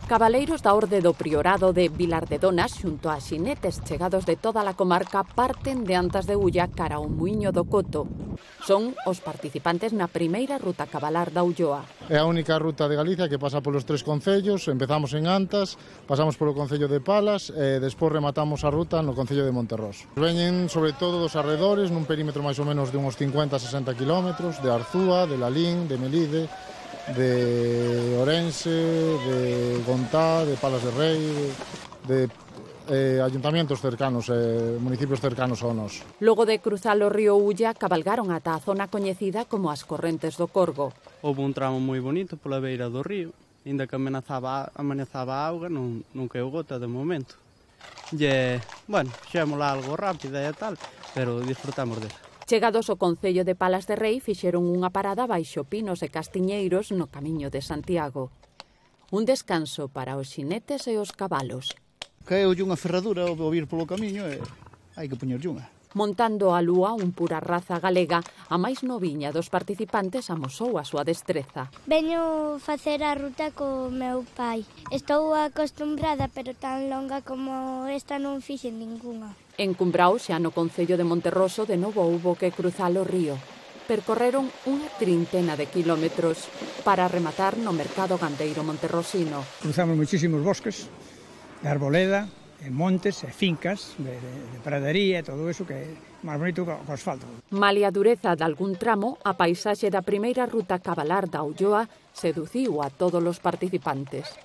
Cabaleiros da Orde do Priorado de Vilar de Donas xunto a xinetes chegados de toda a comarca parten de Antas de Ulla cara ao Muiño do Coto. Son os participantes na primeira ruta cabalar da Ulloa. É a única ruta de Galicia que pasa polos 3 concellos. Empezamos en Antas, pasamos polo concello de Palas e despois rematamos a ruta no concello de Monterroso. Veñen sobre todo dos arredores nun perímetro máis ou menos de uns 50-60 kilómetros, de Arzúa, de Lalín, de Melide, de Orense, de Gontá, de Palas de Rei, de ayuntamientos cercanos, municipios cercanos ao noso. Logo de cruzar o río Ulla, cabalgaron ata a zona coñecida como as Correntes do Corgo. Houve un tramo moi bonito pola beira do río, ainda que amenazaba a auga, non caeu gota de momento. Bueno, xémola algo rápida e tal, pero disfrutamos dela. Chegados ao concello de Palas de Rei, fixeron unha parada baixo pinos e castiñeiros no camiño de Santiago. Un descanso para os xinetes e os cabalos. Caeulle unha ferradura ao vir polo camiño e hai que poñerlle unha. Montando a lúa, un pura raza galega, a máis noviña dos participantes amosou a súa destreza. Veño facer a ruta co meu pai. Estou acostumbrada, pero tan longa como esta non fixen ningunha. En Cumbrao, xa no concello de Monterroso, de novo houbo que cruzar o río. Percorreron unha trintena de kilómetros para rematar no mercado gandeiro monterrosino. Cruzamos muchísimos bosques, de arboleda, de montes e fincas, de pradería e todo eso que é máis bonito que o asfalto. Malia a dureza de algún tramo, a paisaxe da primeira ruta cabalar da Ulloa seduciu a todos os participantes.